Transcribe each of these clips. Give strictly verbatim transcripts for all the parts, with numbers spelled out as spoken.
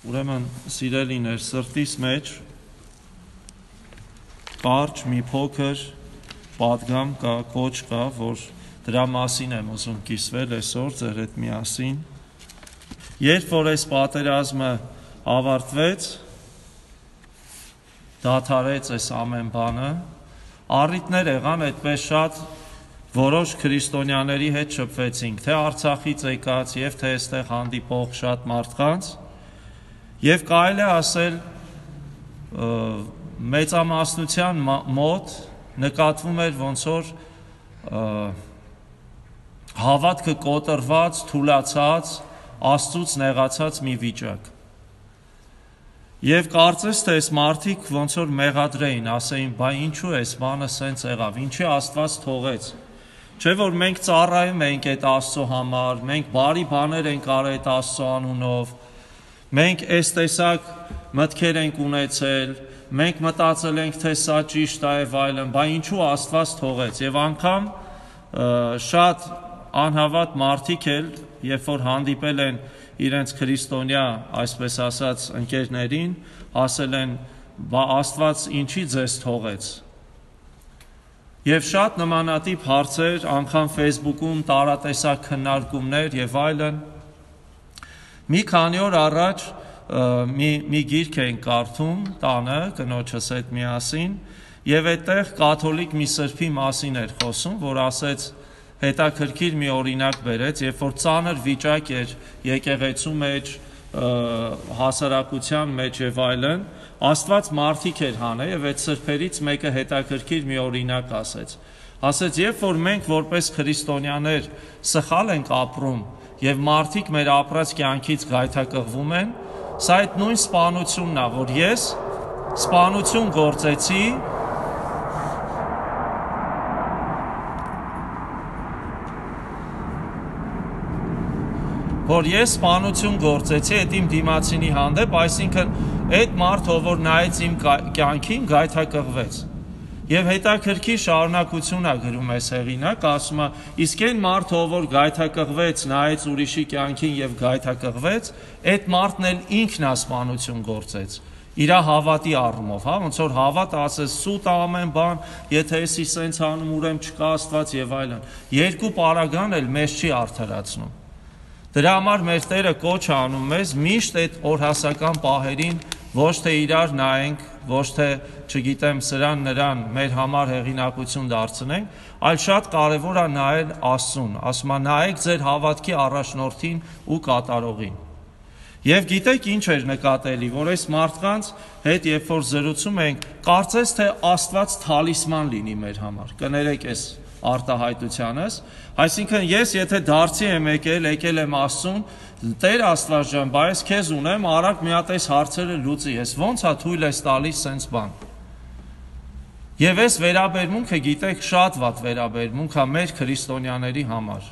Ուրեմն սիրելիներ, սրտիս մեջ կարճ մի փոքր պատգամ կա, կոչ կա, որ դրա մասին եմ ուզում կիսվել այսօր ձեր հետ միասին։ Երբ որ այս պատերազմը ավարտվեց, դադարեց այս ամեն բանը, առիթներ եղան այդպես շատ, որոշ քրիստոնյաների հետ շփվեցինք, թե Արցախից եկած եւ թե այստեղ հանդիպող շատ մարդկանց, եւ կարելի է ասել մեծամասնության մոտ նկատվում էր ոնց որ հավատքը կոտրված, թուլացած, Աստծուց նեղացած մի վիճակ։ Եվ կարծես թե այս մարդիկ ոնց որ մեղադրեին, ասեին, բա ինչու է այս բանը սենց եղավ, ինչի Աստված թողեց։ Չէ որ մենք ծառայում ենք այդ Աստծո համար, մենք բարի բաներ ենք արել այդ Աստծո անունով, մենք այս տեսակ մտքեր ենք ունեցել, մենք մտածել ենք, թե սա ճիշտ է եւ այլն, բա ինչու Աստված թողեց։ Եվ անգամ շատ անհավատ մարդիկ էլ, երբ որ հանդիպել են իրենց քրիստոնյա, այսպես ասած, ընկերներին, ասել են, բա Աստված ինչի ձեզ թողեց։ Եվ շատ նմանատիպ հարցեր, անգամ Facebook-ում տարատեսակ քննարկումներ եւ այլն։ Մի քանի օր առաջ մի մի գիրք ենք կարդում տանը կնոջս հետ միասին եւ այդտեղ կաթոլիկ մի սրբի մասին էր խոսում, որ ասեց հետաքրքիր մի օրինակ բերեց, երբ որ ծանր վիճակ էր եկեղեցու մեջ, հասարակության մեջ եւ այլն, Աստված մարդիկ էր հանել եւ այդ սրբերից մեկը հետաքրքիր մի օրինակ ասեց։ Ասեց, երբ որ մենք որպես քրիստոնյաներ սխալ ենք ապրում եւ մարդիկ մեր ապրած կյանքից գայթակղվում են, սա այդ նույն սպանությունն է, որ ես սպանություն գործեցի որ ես սպանություն գործեցի այդ իմ դիմացինի հանդեպ, այսինքն այդ մարդը, որ նայեց իմ կյանքին, գայթակղվեց։ Եվ հետաքրքիր շարունակություն է գրում այս հեղինակ, ասում է, իսկ այն մարդը, որ գայթակղվեց, նայեց ուրիշի կյանքին եւ գայթակղվեց, այդ մարդն էլ ինքն է սպանություն գործեց։ Իր հավատի առումով, հա, ոնց որ հավատը ասես սուտ ամեն բան, եթե էսի սենց անում, ուրեմն չկա Աստված եւ այլն։ Երկու պարագան էլ մեզ չի արդարացնում։ Դրա համար մեր Տերը կոչ է անում մեզ միշտ այդ օրհասական պահերին ոչ թե իրար նայենք, ոչ թե, չգիտեմ, սրան նրան մեր համար հեղինակություն դարձնենք, այլ շատ կարևոր է նայել Աստծուն, ասում է նայեք ձեր հավատքի առաջնորդին ու կատարողին։ Եվ գիտեք ինչ էր նկատելի, որ այս մարդկանց հետ երբ որ զրուցում ենք, կարծես թե Աստված թալիսման լինի մեր համար։ Կներեք այս արտահայտությանս, այսինքն ես եթե դարձի եմ եկել, եկել եմ Աստծուն, Տեր Աստված ջան, բա ես քեզ ունեմ, արագ մի հատ այս հարցերը լուծի, ես ո՞նց է թույլ ես տալիս սենց բան։ Եվ այս վերաբերմունքը, գիտեք, շատ վատ վերաբերմունք է մեր քրիստոնյաների համար։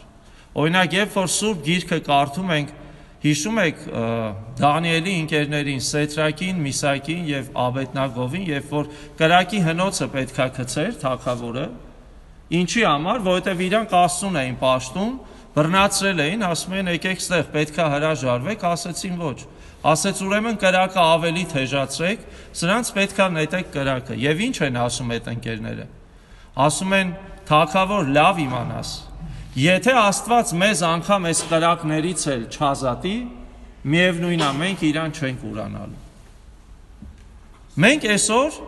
Օրինակ, երբ որ Սուրբ Գիրքը կարդում ենք, հիշում եք Դանիելի ընկերներին, Սեդրակին, Միսակին եւ Աբեդնագովին, երբ որ կրակի հնոցը պետքա գցեր թագավորը, ինչի համար, որովհետև իրանք Աստծուն էին պաշտում, բռնացրել էին, ասում են եկեք ստեղ պետքա հրաժարվեք, ասեցին ոչ։ Ասեց ուրեմն կրակը ավելի թեժացրեք, սրանց պետքա նետեք կրակը։ Եվ ինչ են ասում այդ ընկերները։ Ասում են թագավոր լավ իմանաս։ Եթե Աստված մեզ անգամ այս կրակներից էլ չազատի, միևնույն է մենք իրան չենք ուրանալու։ Մենք այսօր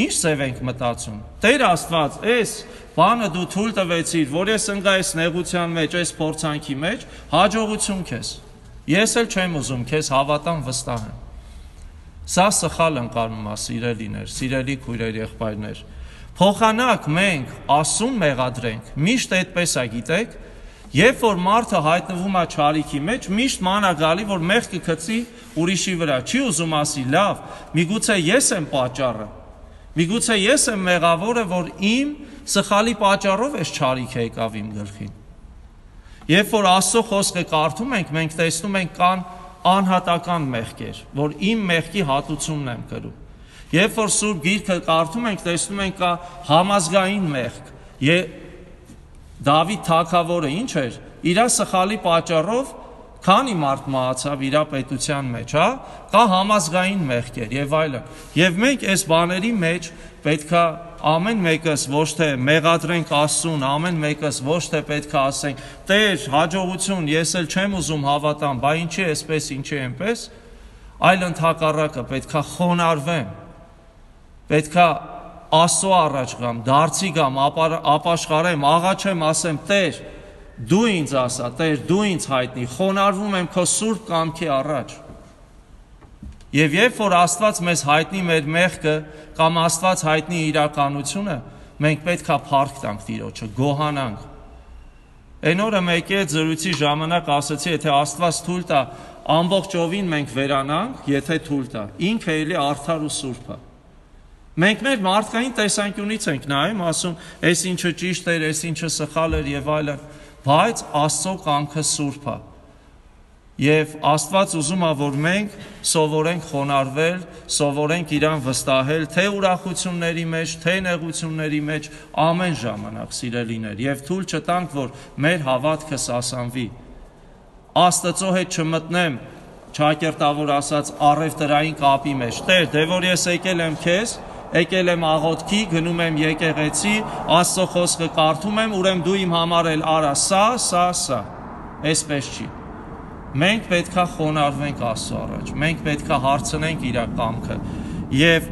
ինչ ծև ենք մտածում։ Տեր Աստված, այս բանը դու թույլ տվեցիր, որ ես ընկա այս նեղության մեջ, այս փորձանքի մեջ, հաջողություն քեզ։ Ես էլ չեմ ուզում քեզ հավատամ, վստահեմ։ Սա սխալ ընկալում է, սիրելիներ, սիրելի քույրեր, եղբայրներ։ Փոխանակ մենք Աստծուն մեղադրենք, միշտ այդպես է, գիտեք, երբ որ մարդը հայտնվում է չարիքի մեջ, միշտ ման է գալի, որ մեղքը գցի ուրիշի վրա, չի ուզում ասի, լավ, միգուցե ես եմ պատճառը։ Միգուցե ես եմ մեղավորը, որ իմ սխալի պատճառով էս չարիքը եկավ իմ գլխին։ Երբ որ Աստծո խոսքը կարդում ենք, մենք տեսնում ենք կան անհատական մեղքեր, որ իմ մեղքի հատուցումն եմ կրում։ Երբ որ Սուրբ Գիրքը կարդում ենք, տեսնում ենք կա համազգային մեղք։ Դավիթ թագավորը ինչ էր, իր սխալի պատճառով քանի մարդ մահացավ իր պետության մեջ, հա, կա համազգային մեղքեր եւ այլն։ Եվ մենք այս բաների մեջ պետքա ամեն մեկս ոչ թե մեղադրենք Աստծուն, ամեն մեկս ոչ թե պետքա ասենք, Տեր, հաջողություն, ես էլ չեմ ուզում հավատամ, բա ինչի էսպես, ինչի այնպես, այլ ընդհակառակը պետքա խոնարհվեմ, պետքա Աստծո առաջ գամ, դարձի գամ, ապաշխարեմ, աղաչեմ, ասեմ, Տեր, դու ինձ ասա, Տեր, դու ինձ հայտնի, խոնարհվում եմ քո սուրբ կամքի առաջ։ Եվ երբ որ Աստված մեզ հայտնի մեր մեղքը կամ Աստված հայտնի իրականությունը, մենք պետքա փառք տանք Տիրոջը, գոհանանք։ Այն օրը մեկի հետ զրույցի ժամանակ ասացի, եթե Աստված թույլ տա, ամբողջովին մենք վերանանք, եթե թույլ տա, ինքը էլի արդար ու սուրբ է։ Մենք մեր մարդկային տեսանկյունից ենք նայում, ասում, այս ինչը ճիշտ էր, այս ինչը սխալ էր եւ այլն, բայց Աստծո կամքը սուրբ է։ Եվ Աստված ուզում է, որ մենք սովորենք խոնարհվել, սովորենք իրան վստահել, թե ուրախությունների մեջ, թե նեղությունների մեջ, ամեն ժամանակ սիրելիներ, եւ թույլ չտանք, որ մեր հավատքը սասանվի։ Աստծո հետ չմտնեմ, ճակերտավոր ասած, առևտրային կապի մեջ։ Տեր, դե որ ես եկել եմ քեզ, եկել եմ աղոթքի, գնում եմ եկեղեցի, Աստծո խոսքը կարդում եմ, ուրեմն դու իմ համար էլ արա սա, սա, սա։ Այսպես չի։ Մենք պետքա խոնարհվենք Աստծո առաջ, մենք պետքա հարցնենք իր կամքը եւ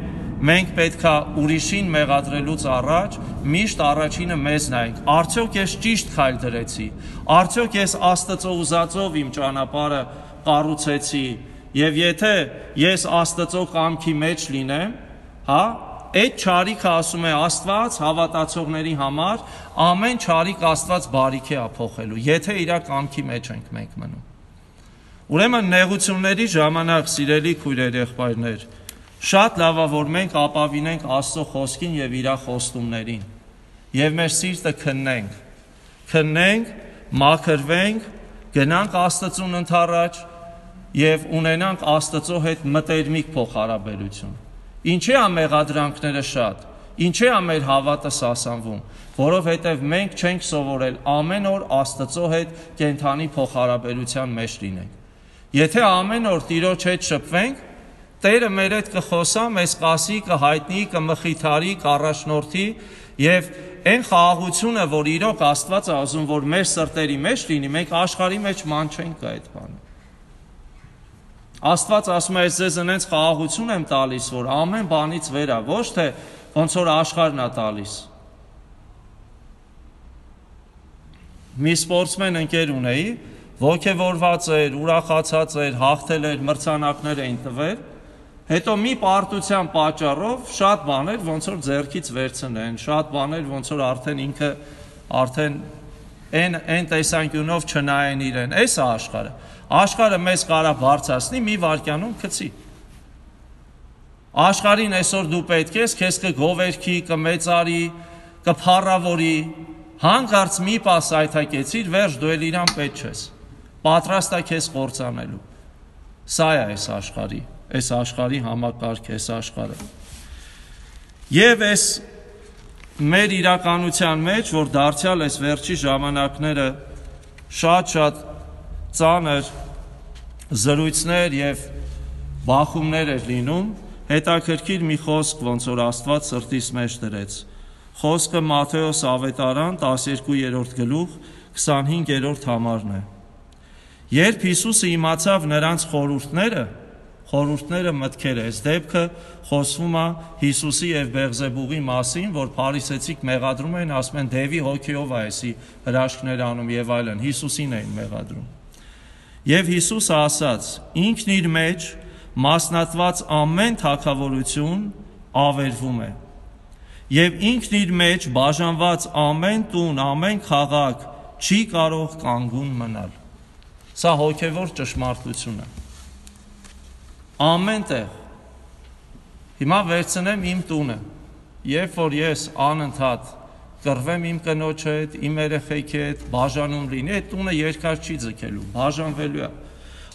մենք պետքա ուրիշին մեղադրելուց առաջ միշտ առաջինը մեզ նայենք, արդյոք ես ճիշտ քայլ դրեցի, արդյոք ես Աստծո ուզածով իմ ճանապարհը կառուցեցի եւ եթե ես Աստծո կամքի մեջ լինեմ, հա, այդ չարիքը ասում է Աստված հավատացողների համար, ամեն չարիք Աստված բարիքի է փոխելու, եթե իր կամքի մեջ ենք մենք մնում։ Ուրեմն նեղությունների ժամանակ սիրելի քույրեր, եղբայրներ, շատ լավ է, որ մենք ապավինենք Աստծո խոսքին եւ իր խոստումներին եւ մեր սիրտը քննենք, քննենք, մաքրվենք, գնանք Աստծուն ընդառաջ եւ ունենանք Աստծո հետ մտերմիկ փոխհարաբերություն։ Ինչի՞ է մեղադրանքները շատ, ինչի՞ է մեր հավատը սասանվում, որովհետեւ մենք չենք սովորել ամեն օր Աստծո հետ կենթանի փոխհարաբերության մեջ լինենք։ Եթե ամեն օր Տիրոջ հետ շփվենք, Տերը մեր հետ կխոսա, մեզ կասի, կհայտնի, կմխիթարի, կառաջնորդի եւ այն խաղաղությունը, որ իրոք Աստված է ուզում, որ մեր սրտերի մեջ լինի, մենք աշխարհի մեջ ման չենք այդ բանը։ Աստված ասում է, ես ձեզ ընենց խաղաղություն եմ տալիս, որ ամեն բանից վեր է, ոչ թե ոնց որ աշխարհն է տալիս։ Մի սպորտսմեն ընկեր ունեի, ոգևորված էր, ուրախացած էր, հաղթել էր, մրցանակներ էին տվել, հետո մի պարտության պատճառով շատ բաներ ոնց որ ձեռքից վերցնեն, շատ բաներ ոնց որ արդեն ինքը արդեն այն այն տեսանկյունով չնայեն իրեն, այս է աշխարհը։ Աշխարհը մեզ կարա բարձրացնի, մի վայրկյանում գցի։ Աշխարհին այսօր դու պետք ես, քեզ կգովերքի, կմեծարի, կփառավորի, հանկարծ մի պաս այթակեցիր, վերջ դու էլ իրան պետք չես։ Պատրաստ է քեզ կործանելու։ Սա է այս աշխարհի, այս աշխարհի համակարգը, այս աշխարհը։ Եվ այս մեր իրականության մեջ, որ դարձյալ այս վերջի ժամանակները շատ-շատ ծանր զրույցներ եւ բախումներ էր լինում, հետաքրքիր մի խոսք ոնց որ Աստված սրտիս մեջ դրեց։ Խոսքը Մատթեոս ավետարան տասներկուերորդ գլուխ քսանհինգերորդ համարն է։ Երբ Հիսուսը իմացավ նրանց խորհուրդները, խորհուրդները մտքեր է, այս դեպքը խոսվում է Հիսուսի եւ Բեղզեբուղի մասին, որ փարիսեցիք մեղադրում են, ասում են դևի հոգիով է էսի հրաշքներ անում եւ այլն, Հիսուսին էին մեղադրում։ Եվ Հիսուսը ասաց. ինքն իր մեջ մասնատված ամեն թագավորություն ավերվում է եւ ինքն իր մեջ բաժանված ամեն տուն, ամեն քաղաք չի կարող կանգուն մնալ։ Սա հոգևոր ճշմարտություն է։ Ամեն տեղ։ Հիմա վերցնեմ իմ տունը, երբ որ ես անընդհատ կռվեմ իմ կնոջ հետ, իմ երեխեքի հետ, բաժանում լինի, այդ տունը երկար չի ձգելու, բաժանվելու է։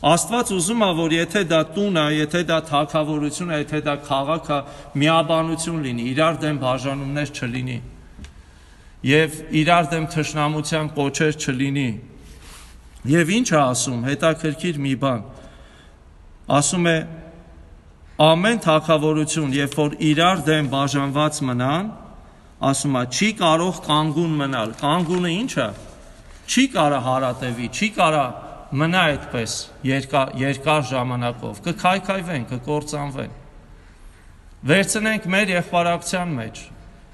Աստված ուզում է, որ եթե դա տուն է, եթե դա թագավորություն է, եթե դա քաղաք է, միաբանություն լինի, իրար դեմ բաժանումներ չլինի եւ իրար դեմ թշնամության կոչեր չլինի։ Եվ ինչ է ասում, հետաքրքիր մի բան, ասում է ամեն թագավորություն, երբ որ իրար դեմ բաժանված մնան, ասում է չի կարող կանգուն մնալ, կանգունը ինչ է, չի կարա հարատևի, չի կարա մնա այդպես երկար, երկար ժամանակով, կքայքայվեն, կկործանվեն։ Վերցնենք մեր եղբարակցության մեջ,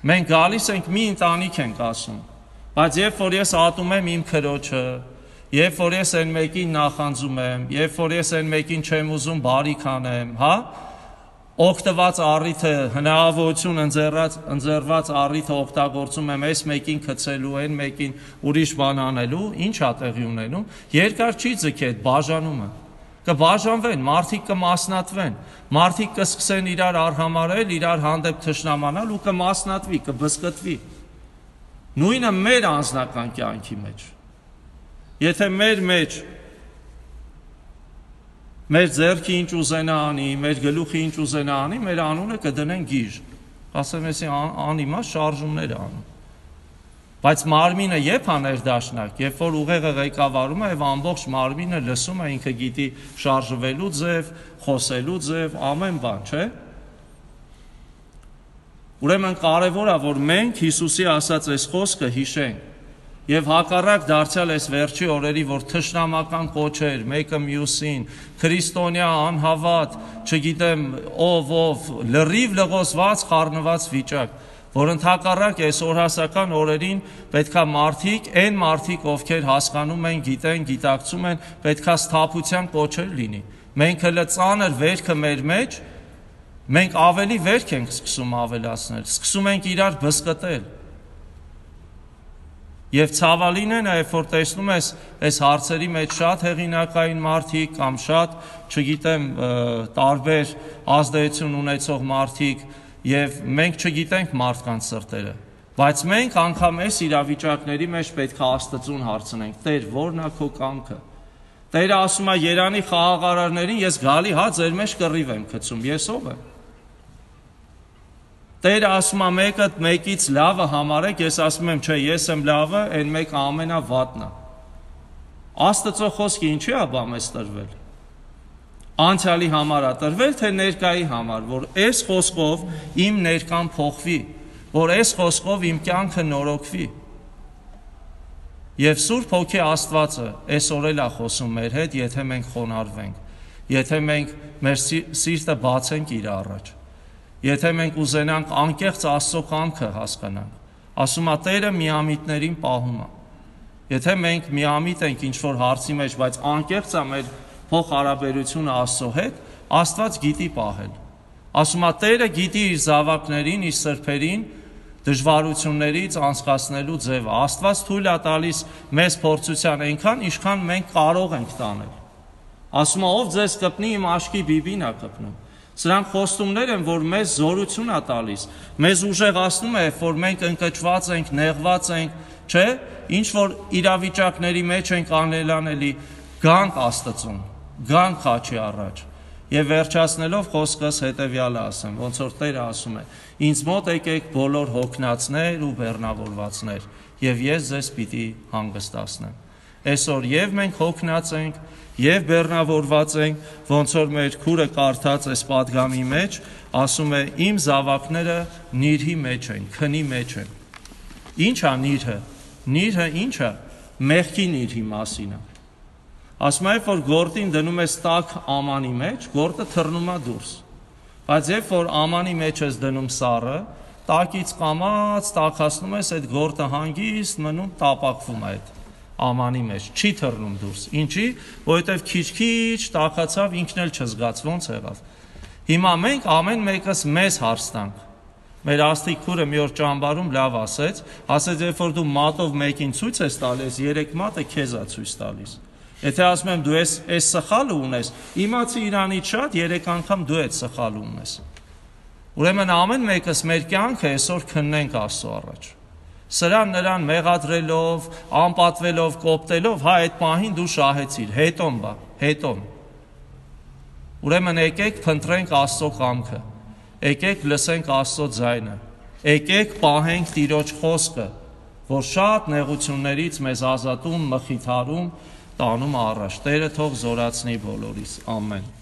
մենք գալիս ենք մի ընտանիք ենք ասում, բայց երբ որ ես ատում եմ իմ քրոջը, երբ որ ես այն մեկին նախանձում եմ, երբ որ ես այն մեկին չեմ ուզում բարիք անեմ, հա, օգտված առիթը, հնարավորություն ընձեռած, ընձեռված առիթը օգտագործում եմ այս մեկին գցելու, այն մեկին ուրիշ բան անելու, ինչ է տեղի ունենում, երկար չի ձգի այդ բաժանումը, կբաժանվեն, մարդիկ կմասնատվեն, մարդիկ կսկսեն իրար արհամարել, իրար հանդեպ թշնամանալ ու կմասնատվի, կբզկտվի։ Նույնը մեր անձնական կյանքի մեջ։ Եթե մեր մեջ մեր ձեռքի ինչ ուզենա անի, մեր գլուխի ինչ ուզենա անի, մեր անունը կդնեն գիժ, ասեմ էսի անիմաստ շարժումներ անում։ Բայց մարմինը երբ է ներդաշնակ, երբ որ ուղեղը ղեկավարում է եւ ամբողջ մարմինը լսում է, ինքը գիտի շարժվելու ձև, խոսելու ձև, ամեն բան, չէ՞։ Ուրեմն կարևոր է, որ մենք Հիսուսի ասած այս խոսքը հիշենք եւ հակառակ դարձյալ այս վերջի օրերի, որ թշնամական կոչեր, մեկը մյուսին, քրիստոնյա անհավատ, չգիտեմ ով ով, լրիվ լղոսված, խառնված վիճակ, որ ընդհակառակ այս օրհասական օրերին պետքա մարդիկ, այն մարդիկ, ովքեր հասկանում են, գիտեն, գիտակցում են, պետքա սթափության կոչեր լինի։ Մենք հələ ծանր վերքը մեր մեջ, մենք ավելի վերք ենք սկսում ավելացնել, սկսում ենք իրար բզկտել։ Եվ ցավալին է նաև, որ տեսնում ես այս հարցերի մեջ շատ հեղինակային մարդիկ կամ շատ, չգիտեմ, տարբեր ազդեցություն ունեցող մարդիկ եւ մենք չգիտենք մարդկանց սրտերը, բայց մենք անգամ այս իրավիճակների մեջ պետք է Աստծուն հարցնենք. Տեր, ո՞րն է քո կամքը։ Տերը ասում է Երանի խաղաղարարներին, ես գալի հա ձեր մեջ կռիվ եմ գցում, ես ով եմ։ Տերը ասում է մեկը մեկից լավը համարեք, ես ասում եմ, չէ, ես եմ լավը, այն մեկը ամենավատն է։ Աստծո խոսքը ինչի է բամես տրվել։ Անցյալի համար է տրվել, թե ներկայի համար, որ այս խոսքով իմ ներկան փոխվի, որ այս խոսքով իմ կյանքը նորոգվի։ Եվ Սուրբ Հոգի Աստվածը այսօր էլ է խոսում մեր հետ, եթե մենք խոնարհվենք, եթե մենք մեր սիրտը բացենք իր առաջ, եթե մենք ուզենանք անկեղծ Աստծո կամքը հասկանանք, ասում է Տերը միամիտներին պահում է։ Եթե մենք միամիտ ենք ինչ-որ հարցի մեջ, բայց անկեղծ է մեր փոխհարաբերությունը Աստծո հետ, Աստված գիտի պահել։ Ասում է Տերը գիտի իր զավակներին, իր սրբերին դժվարություններից անցկացնելու ձևը։ Աստված թույլ է տալիս մեզ փորձության այնքան, ինչքան մենք կարող ենք տանել։ Ասում է ով ձեզ կպնի, իմ աշկի բիբին է կպնում։ Սրանք խոստումներ են, որ մեզ զորություն է տալիս, մեզ ուժեղացնում է, որ մենք ընկճված ենք, նեղված ենք, չէ, ինչ որ իրավիճակների մեջ ենք անելանելի, գանք Աստծուն, գանք խաչի առաջ։ Եվ վերջացնելով խոսքս հետևյալը ասեմ, ոնց որ Տերը ասում է. ինձ մոտ եկեք բոլոր հոգնածներ ու բեռնավորվածներ, եւ ես ձեզ պիտի հանգստացնեմ։ Այսօր եւ մենք հոգնած ենք, եւ բեռնավորված ենք, ոնց որ մեր քուրը կարդաց այս պատգամի մեջ, ասում է իմ զավակները նիրհի մեջ են, քնի մեջ են։ Ինչ է նիրհը։ Նիրհը ինչ է։ Մեղքի նիրհի մասին է։ Ասում է, որ գորտին դնում ես տաք ամանի մեջ, գորտը թռնում է դուրս։ Բայց երբ որ ամանի մեջ ես դնում սառը, տակից կամած տակացնում ես, այդ գորտը հանգիստ մնում տապակվում է այդ ամանի մեջ, չի թռնում դուրս։ Ինչի, որովհետև քիչ-քիչ տակացավ, ինքն էլ չզգաց, ոնց եղավ։ Հիմա մենք ամեն մեկս մեզ հարց տանք։ Մեր Աստղիկ քուրը մի օր ճամբարում լավ ասեց, ասեց, երբ որ դու մատով մեկին ցույց ես տալիս, երեք մատը քեզ է ցույց տալիս։ Եթե ասում եմ դու ես այս սխալը ունես, իմացի Իրանից շատ երեք անգամ դու այդ սխալը ունես։ Ուրեմն ամեն մեկս մեր կյանքը այսօր քննենք Աստծո առաջ։ Սրան նրան մեղադրելով, անպատվելով, կոպտելով, հա այդ պահին դու շահեցիր, հետոն բա, հետոն։ Ուրեմն եկեք փնտրենք Աստծո կամքը։ Եկեք լսենք Աստծո ձայնը։ Եկեք պահենք Տիրոջ խոսքը, որ շատ նեղություններից մեզ ազատում, մխիթարում, տանում առաջ։ Տերը թող զորացնի բոլորիս։ Ամեն։